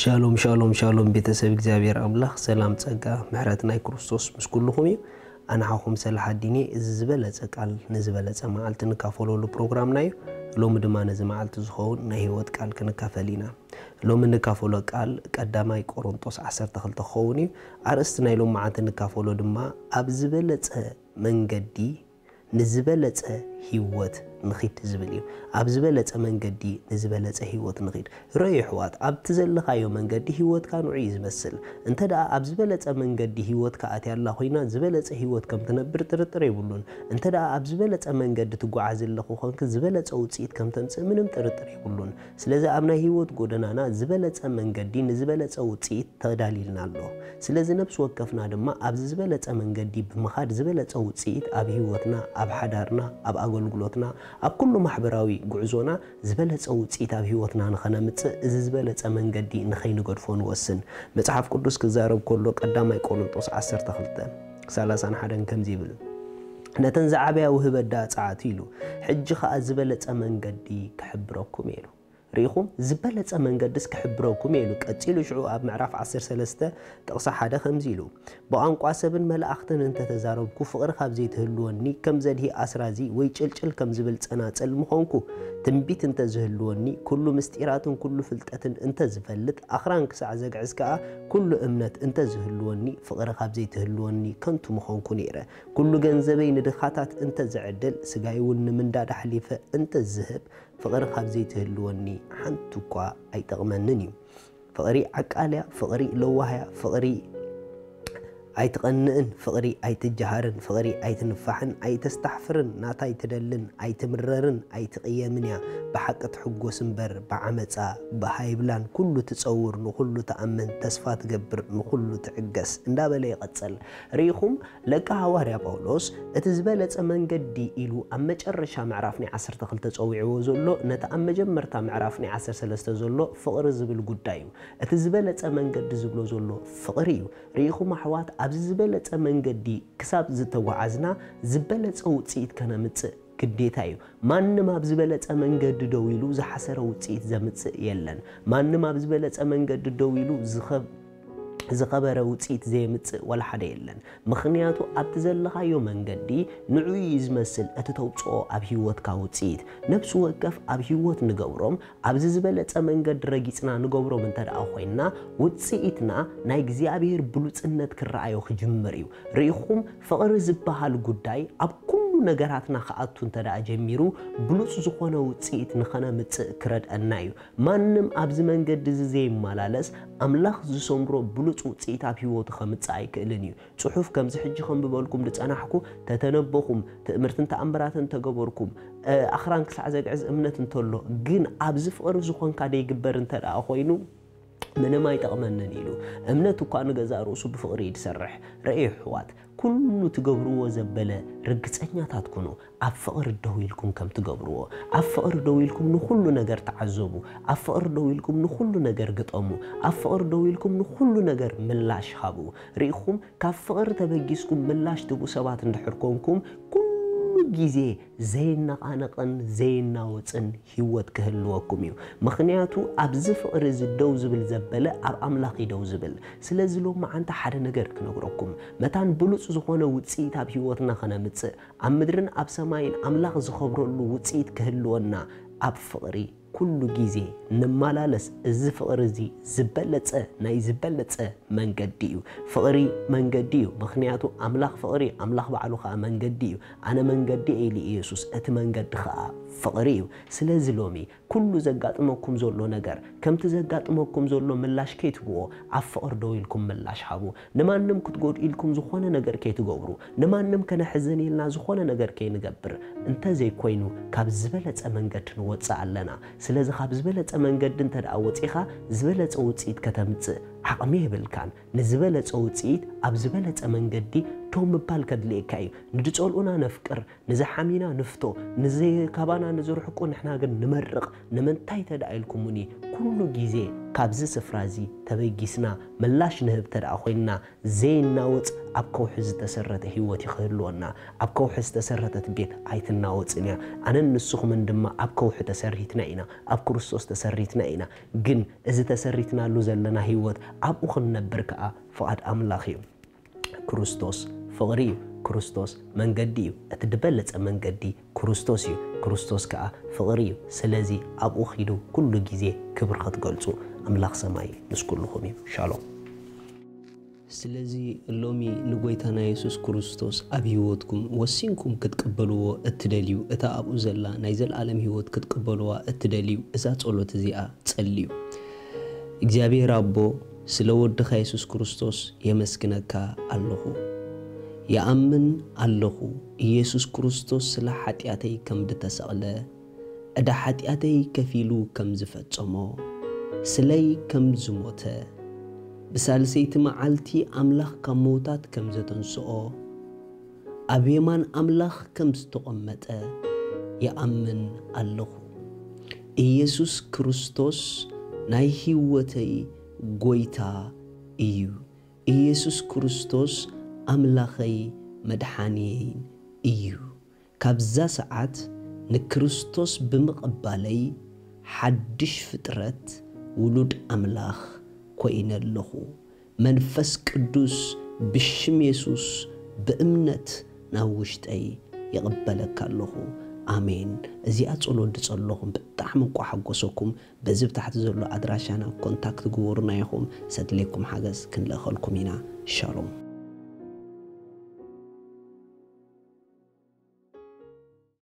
ሻሎም ሻሎም ሻሎም፣ ቤተሰብ እግዚኣብሔር ኣምላኽ ሰላም፣ ጸጋ፣ ምሕረት ናይ ክርስቶስ ምስ ኩልኹም እዩ። ኣንሓኹም ሰላሓዲን እየ። እዚ ዝበለጸ ቃል ንዝበለጸ መዓልቲ ንካፈለሉ ፕሮግራምና እዩ። ሎሚ ድማ ነዚ መዓልቲ ዝኸውን ናይ ህይወት ቃል ክንካፈል ኢና። ሎሚ ንካፈሎ ቃል ቀዳማይ ቆሮንጦስ ዓሰርተ ክልተ ክኸውን እዩ። ኣርእስቲ ናይ ሎም መዓልቲ ንካፈሎ ድማ ኣብ ዝበለጸ መንገዲ ንዝበለጸ ህይወት ንኺድ ዝብል እዩ። ኣብ ዝበለጸ መንገዲ ንዝበለጸ ህይወት ንኺድ። ርኣዩ ኣሕዋት፣ ኣብቲ ዘለኻዮ መንገዲ ህይወትካ ንዑ እዩ ዝመስል። እንተ ደኣ ኣብ ዝበለጸ መንገዲ ህይወትካ ኣትያ ኣላ ኮይና፣ ዝበለጸ ህይወት ከም ትነብር ጥርጥር የብሉን። እንተ ደኣ ኣብ ዝበለጸ መንገዲ ትጓዓዝ ኣለኹ ኮንክ፣ ዝበለጸ ውጽኢት ከም ተምጽእ ምንም ጥርጥር የብሉን። ስለዚ ኣብ ናይ ህይወት ጎደናና ዝበለጸ መንገዲ ንዝበለጸ ውጽኢት ተዳሊልና ኣሎ። ስለዚ ነፍሲ ወከፍና ድማ ኣብዚ ዝበለጸ መንገዲ ብምኻድ ዝበለጸ ውጽኢት ኣብ ህይወትና፣ ኣብ ሓዳርና፣ ኣብ ኣገልግሎትና፣ ኣብ ኩሉ ማሕበራዊ ጉዕዞና ዝበለጸ ውጽኢት ኣብ ህይወትና ንኸነምጽእ እዚ ዝበለጸ መንገዲ ንኸይንገድፎ ንወስን። መጽሓፍ ቅዱስ ክዛረብ ከሎ ቀዳማይ ቆሮንጦስ ዓሰርተ ክልተ ሰላሳን ሓደን ከምዚ ይብል፣ ነተን ዝዓበያ ውህበት ደኣ ጸዓቱ ኢሉ፣ ሕጂ ኸኣ ዝበለጸ መንገዲ ክሕብረኩም ኢሉ። ርኢኹም፣ ዝበለጸ መንገድስ ክሕብረኩም ኢሉ። ቀጺሉ ሽዑ ኣብ ምዕራፍ ዓሰርተ ሰለስተ ጥቕሲ ሓደ ከምዚ ኢሉ፣ ብቋንቋ ሰብን መላእኽትን እንተተዛረብኩ፣ ፍቕሪ ካብ ዘይትህልወኒ፣ ከም ዘድሂ ኣስራዚ ወይ ጭልጭል ከም ዝብል ጸናጽል ምኾንኩ። ትንቢት እንተዝህልወኒ፣ ኩሉ ምስጢራትን ኩሉ ፍልጠትን እንተዝፈልጥ፣ ኣኽራን ክሳዕ ዘግዕዝ ከኣ ኩሉ እምነት እንተዝህልወኒ፣ ፍቕሪ ካብ ዘይትህልወኒ ከንቱ ምኾንኩ ነይረ። ኩሉ ገንዘበይ ንድኻታት እንተዝዕድል፣ ስጋይ እውን ንምንዳድ ኣሕሊፈ እንተዝህብ፣ ፍቕሪ ካብ ዘይትህልወኒ ሓንቲ እኳ ኣይጠቕመንን እዩ። ፍቕሪ ዓቃል እያ፣ ፍቕሪ ለዋህ እያ፣ ፍቕሪ ኣይትቐንእን፣ ፍቕሪ ኣይትጀሃርን፣ ፍቕሪ ኣይትንፋሕን፣ ኣይተስታሕፍርን፣ ናታ ኣይትደልን፣ ኣይትምረርን፣ ኣይትቕየምን እያ። ብሓቂ ትሕጎስ እምበር ብዓመጻ ብሃይብላን ኩሉ ትጸውር፣ ንኹሉ ትኣምን፣ ተስፋ ትገብር፣ ንኹሉ ትዕገስ እንዳበለ ይቐጽል። ርኢኹም፣ ለካ ሃዋርያ ጳውሎስ እቲ ዝበለጸ መንገዲ ኢሉ ኣብ መጨረሻ ምዕራፍ ናይ ዓሰርተ ክልተ ጸዊዕዎ ዘሎ፣ ነቲ ኣብ መጀመርታ ምዕራፍ ናይ ዓሰርተ ሰለስተ ዘሎ ፍቕሪ ዝብል ጉዳይ እዩ። እቲ ዝበለጸ መንገዲ ዝብሎ ዘሎ ፍቕሪ እዩ። ርኢኹም ኣሕዋት፣ ኣብዚ ዝበለጸ መንገዲ ክሳብ ዝተጓዓዝና ዝበለጸ ውጽኢት ከነምጽእ ግዴታ እዩ። ማንም ኣብ ዝበለጸ መንገዲ ደው ኢሉ ዝሓሰረ ውጽኢት ዘምጽእ የለን። ማንም ኣብ ዝበለጸ መንገዲ ደው ኢሉ ዝኸ-፣ ዝኸበረ ውጽኢት ዘየምጽእ ዋላ ሓደ የለን። ምኽንያቱ ኣብቲ ዘለኻዮ መንገዲ ንዑ እዩ ዝመስል እቲ ተውጽኦ ኣብ ህይወትካ ውጽኢት። ነፍሲ ወከፍ ኣብ ህይወት ንገብሮም ኣብዚ ዝበለጸ መንገዲ ረጊጽና ንገብሮም እንተ ደኣ ኮይንና፣ ውጽኢትና ናይ እግዚኣብሔር ብሉጽነት ክረኣዮ ክጅምር እዩ። ርኢኹም፣ ፍቕሪ ዝበሃል ጉዳይ ኣብ ኩሉ ነገራትና ክኣቱ እንተ ደኣ ጀሚሩ፣ ብሉጽ ዝኾነ ውጽኢት ንኸነምጽእ ክረድአና እዩ። ማንም ኣብዚ መንገዲ እዚ ዘይመላለስ፣ ኣምላኽ ዝሰምሮ ብሉጽ ውጽኢት ኣብ ህይወቱ ከምጽእ ኣይክእልን እዩ። ጽሑፍ ከምዚ ሕጂ ከንብበልኩም ዝጸናሕኩ፣ ተተነበኹም፣ ትእምርትን ተኣምራትን ተገበርኩም፣ እ፣ ኣኽራን ክሳዕ ዘግዕዝ እምነት እንተሎ፣ ግን ኣብዚ ፍቕሪ ዝኾንካ ደይግበር እንተ ደኣ ኮይኑ፣ ምንም ኣይጠቕመንን ኢሉ። እምነት እኳ ንገዛእ ርእሱ ብፍቕሪ እዩ ዝሰርሕ። ርእዩ ኣሕዋት፣ ኩሉ ትገብርዎ ዘበለ ርግጸኛታት ኩኑ። ኣብ ፍቕሪ ደው ኢልኩም ከም ትገብርዎ፣ ኣብ ፍቕሪ ደው ኢልኩም ንኹሉ ነገር ተዓዘቡ። ኣብ ፍቕሪ ደው ኢልኩም ንኹሉ ነገር ግጠሙ። ኣብ ፍቕሪ ደው ኢልኩም ንኹሉ ነገር ምላሽ ሃቡ። ርኢኹም፣ ካብ ፍቕሪ ተበጊስኩም ምላሽ ትህቡ ሰባት እንድሕር ኮንኩም፣ ኩሉ ግዜ ዘይነቓነቕን ዘይናወጽን ህይወት ክህልወኩም እዩ። ምኽንያቱ ኣብዚ ፍቕሪ እዚ ደው ዝብል ዘበለ ኣብ ኣምላኽ እዩ ደው ዝብል። ስለዚ ሎማዓንቲ ሓደ ነገር ክነግረኩም፣ መታን ብሉጽ ዝኾነ ውጽኢት ኣብ ህይወትና ከነምጽእ፣ ኣብ ምድርን ኣብ ሰማይን ኣምላኽ ዝኸብረሉ ውጽኢት ክህልወና፣ ኣብ ፍቕሪ ኩሉ ግዜ ንመላለስ። እዚ ፍቕሪ እዚ ዝበለጸ፣ ናይ ዝበለጸ መንገዲ እዩ። ፍቕሪ መንገዲ እዩ። ምኽንያቱ ኣምላኽ ፍቕሪ እዩ። ኣምላኽ ባዕሉ ኸኣ መንገዲ እዩ። "ኣነ መንገዲ እየ" ኢሉ ኢየሱስ፣ "እቲ መንገዲ ኸኣ ፍቕሪ እዩ።" ስለዚ ሎሚ ኩሉ ዘጋጥመኩም ዘሎ ነገር፣ ከምቲ ዘጋጥመኩም ዘሎ ምላሽ ከይትህብዎ፣ ኣብ ፍቕሪ ደው ኢልኩም ምላሽ ሃቡ። ንማንም ክትጎድኡ ኢልኩም ዝኾነ ነገር ከይትገብሩ፣ ንማንም ከነሕዝን ኢልና ዝኾነ ነገር ከይንገብር፣ እንተዘይኮይኑ ካብ ዝበለጸ መንገዲ ንወጽእ ኣለና። ስለዚ ካብ ዝበለጸ መንገዲ እንተ ደኣ ወጺኻ፣ ዝበለጸ ውጽኢት ከተምጽእ ዓቕሚ የብልካን። ንዝበለጸ ውጽኢት ኣብ ዝበለጸ መንገዲ ደው ምባል ከድልየካ እዩ። ንዝጸልኡና ነፍቅር፣ ንዝሓሚና ንፍቶ፣ ንዘይካባና ንዝርሕቁ ንሕና ግን ንመርቕ። ንምንታይ ተደኣ ኢልኩምኒ፣ ኩሉ ግዜ ካብዚ ስፍራ እዚ ተበጊስና ምላሽ ንህብ ተደኣ ኮይንና፣ ዘይናወጽ ኣብ ከውሒ ዝተሰረተ ህይወት እዩ ክህልወና። ኣብ ከውሒ ዝተሰረተት ቤት ኣይትናወጽን እያ። ኣነን ንስኹምን ድማ ኣብ ከውሒ ተሰሪትና ኢና፣ ኣብ ክርስቶስ ተሰሪትና ኢና። ግን እዚ ተሰሪትናሉ ዘለና ህይወት ኣብኡ ክንነብር ከኣ ፍቓድ ኣምላኽ እዩ። ክርስቶስ ፍቕሪ እዩ። ክርስቶስ መንገዲ እዩ። እቲ ዝበለጸ መንገዲ ክርስቶስ እዩ። ክርስቶስ ከኣ ፍቕሪ እዩ። ስለዚ ኣብኡ ኺዱ ኩሉ ግዜ ክብሪ ክትገልጹ ኣምላኽ ሰማይ ምስ ኩልኹም እዩ። ሻሎም። ስለዚ ሎሚ ንጎይታና የሱስ ክርስቶስ ኣብ ህይወትኩም ወሲንኩም ክትቅበልዎ እትደልዩ፣ እታ ኣብኡ ዘላ ናይ ዘለኣለም ህይወት ክትቅበልዋ እትደልዩ፣ እዛ ጸሎት እዚኣ ጸልዩ። እግዚኣብሔር ኣቦ፣ ስለ ወድኻ የሱስ ክርስቶስ የመስግነካ ኣለኹ። ይኣምን ኣለኹ፣ ኢየሱስ ክርስቶስ ስለ ሓጢኣተይ ከም ዝተሰቕለ፣ ዕዳ ሓጢኣተይ ከፊሉ ከም ዝፈጸሞ፣ ስለይ ከም ዝሞተ፣ ብሳልሰይቲ መዓልቲ ኣምላኽ ካብ ምዉታት ከም ዘተንስኦ፣ ኣብ የማን ኣምላኽ ከም ዝተቐመጠ ይኣምን ኣለኹ። ኢየሱስ ክርስቶስ ናይ ህይወተይ ጎይታ እዩ። ኢየሱስ ክርስቶስ ኣምላኸይ መድሓንየይን እዩ። ካብዛ ሰዓት ንክርስቶስ ብምቕባለይ ሓድሽ ፍጥረት ውሉድ ኣምላኽ ኮይነ ኣለኹ። መንፈስ ቅዱስ ብሽም የሱስ ብእምነት ናብ ውሽጠይ ይቕበለካ ኣለኹ። ኣሜን። እዚኣ ጸሎት ዝጸለኹም ብጣዕሚ እንቋ ሓጎሰኩም። በዚ ብታሕቲ ዘሎ ኣድራሻና ኮንታክት ግበሩና ኢኹም። ሰድሌኩም ሓገዝ ክንልእኸልኩም ኢና። ሻሎም።